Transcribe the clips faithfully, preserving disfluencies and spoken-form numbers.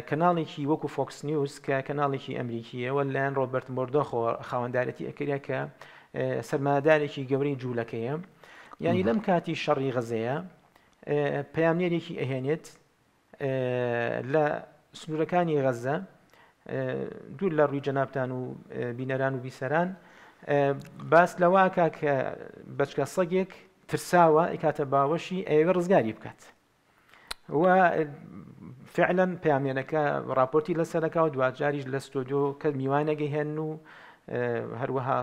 کەناڵێکی وەکو فۆکس نیوز کە کەناڵێکی ئەمریکیە و لەلایەن ڕۆبەرت مۆردۆخەوە خاوەندارەتی ئەکرێت کە سەرمایەدارێکی گەورەی جوولەکەیە. یعنی لەم کاتی شەڕی غەزەیە پەیامنێرێکی ئەهێنێت لە سنوورەکانی غەزە دوور لە ڕووی جەنابتان و بینەران و بیسەران باس لەواکە کە بەچکە سەگێک ترساوە ئیکاتە باوەشی ئەیەوێ ڕزگاری بکات و فعلا پەیامنێرەکە راپۆرتی لەسەرەکە و دواجاریش لە ستۆدیۆ کە میوانەگەی هێن و هەروەها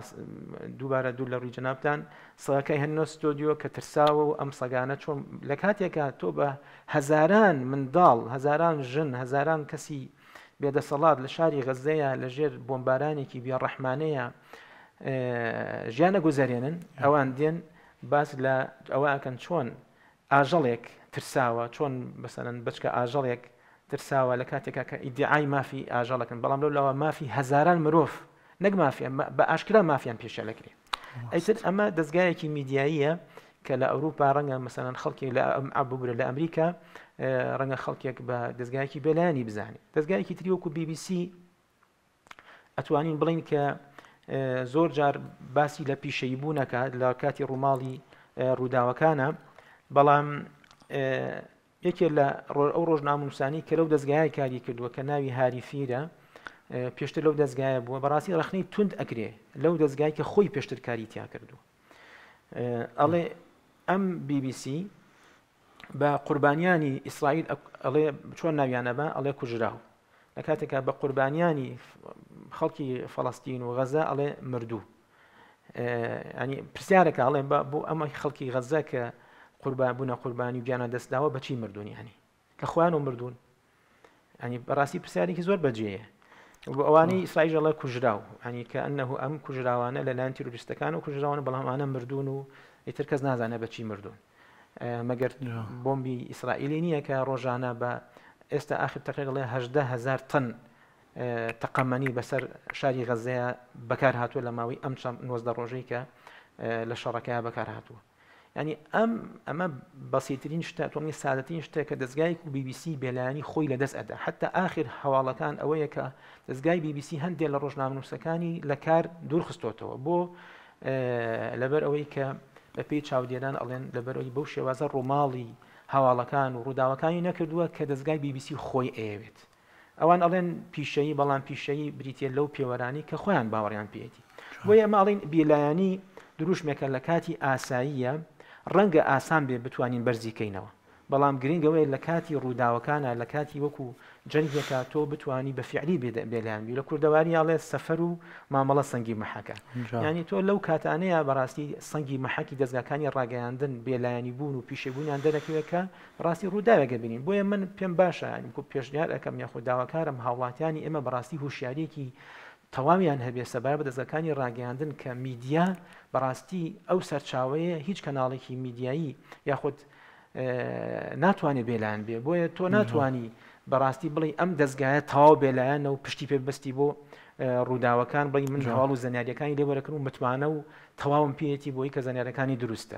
دووبارە دوور لە ڕووی جەنابتان سەگەکەی هێننەوە ستۆدیۆ کە ترساوە و ئەم سەگانە چۆن لە کاتێکە تۆ بە هەزاران منداڵ، هەزاران ژن، هەزاران کەسی بێدەسەڵات لە شاری غەزەیە لەژێر بۆمبارانێکی بێڕەحمانەیە ژیانە گوزارێنن، ئەوان دێن باس لە ئەوە ئەکەن چۆن ئاژەڵێک ترساوە، چۆن بەسەرەن بچکە ئاژەڵێک ترساوە لە کاتێکا کە ئیدعای مافی ئاژەڵەکەن، بەڵام لەو لاوە مافی هەزاران مرۆڤ نەک مافیان بە ئاشکرا مافیان پێشە لەکرێ. ئەیتر ئەمە دەستگایەکی میدیاییە کە لە ئەوروپا ڕەنگە مەسەلەن خەڵکێک لە ببورە لە ئەمریکا ڕەنگە خەڵکێک بە دەستگایەکی بێلایەنی بزانێت. دەستگایەکی تری وەکو بی بی سی ئەتوانین بڵین کە زۆر جار باسی لە پیشەیی بوونەکات لە کاتی ڕووماڵی ڕووداوەکانە، بەڵام یەکێ لە ئەو ڕۆژنامەنووسانی کە لەو دەستگایە کاری کردووە کە ناوی هاری فیرە پێشتر لەو دەستگایە بووە، بەڕاستی ڕەخنەی توند ئەکرێ لەو دەستگای کە خۆی پێشتر کاری تیا کردووە. ئەڵێ ئەم بی بی سی بە قوربانیانی ئیسرائیل ئەڵێ چۆن ناویانە بە ئەڵێ کوژراو، لە کاتێکا بە قوربانیانی خەڵکی فەڵەستین و غەزە ئەڵێ مردوو. ینی پرسیارەکە ئەڵێ بۆ ئەمە خەڵکی غەزە کە قوربان بوونە قوربانی و گیانە دەستداوە بەچی مردوون؟ ینی لە خۆیان و مردوون. ینی بەڕاستی پرسیارێکی زۆر بەجێیە. ئەوانەی ئیسرائیل ئەڵێ کوژراو، ینی کە ئەنەه ئەم کوژراوانە لەلایەن تیرۆریستەکان و کوژراوانە، بەڵام ئەمانە مردوون و ئیتر کەس نازانێت بەچی مردوون. مەگەر بۆمبی ئیسرائیلی نییە کە ڕۆژانە بە ئێستا ئاخر تەقریبا ئەڵێ هەژدە هەزار تەن تەقەمەنی بەسەر شاری غەزەیە بەکار هاتووە لە ماوەی ئەم چەند نۆزدە ڕۆژەی کە لە شەڕەکەیە بەکار هاتووە. یعنی ئەم ئەمە بەسیترین شتە، تۆمی سادەترین شتە کە دەستگایەک و بی بی سی بێلایەنی خۆی لەدەست ئەدا. حتی ئاخر هەواڵەکان ئەوەیە کە دەستگای بی بی سی هەندێک لە ڕۆژنامەنووسەکانی لە کار دوور خستۆتەوە بۆ لەبەر ئەوەی کە بەپێی چاودێران ئەڵێن لەبەر ئەوەی بەو شێوازە ڕووماڵی هەواڵەکان و ڕووداوەکانی نەکردووە کە دەستگای بی بی سی خۆی ئەیەوێت. ئەوان ئەڵێن پیشەیی، بەڵام پیشەیی بریتە لەو پێوەرانی کە خۆیان باوەڕیان پێیەتی. بۆیە ئەمە ئەڵێن بێلایەنی دروشمێکە لە کاتی ئاساییە، ڕەنگە ئاسان بێ بتوانین بەرزی کەینەوە، بەڵام گرنگەوەی لە کاتی ڕووداوەکانە، لە کاتی وەکو جەنگێکە تۆ بتوانی بە فیعلی بێلایەن بی. لە کوردەواری ئەڵێ سەفەر و مامەڵە سەنگی مەحەکە، یعنی تۆ لەو کاتانەیە بەڕاستی سەنگی مەحەکی دەستگاکانی ڕاگەیاندن بێلایەنی بوون و پیشەبوونیان دەرەکەوێت کە ڕاستی ڕووداوێکە بینین. بۆیە من پێم باشە یعنی کو پێشنیار ئەەکەم یاخود داواکارم هاوڵاتیانی ئێمە بەڕاستی هوشیاریەکی تەواویان هەبێ سەبارەت بە دەستگاکانی ڕاگەیاندن کە میدیا بەڕاستی ئەو سەرچاوەیە هیچ کەناڵێکی میدیایی یاخود ناتوانێت بێلایەن بێ. بۆیە تۆ ناتوانی بەڕاستی بڵێ ئەم دەستگایە تەواو بێلایەنە و پشتی پێبەستی بۆ ڕووداوەکان، بڵێ من هەواڵ و زانیاریەکانی لێوەرەکەن و متمانە و تەواوم پێیەتی بۆی کە زانیاریەکانی دروستە.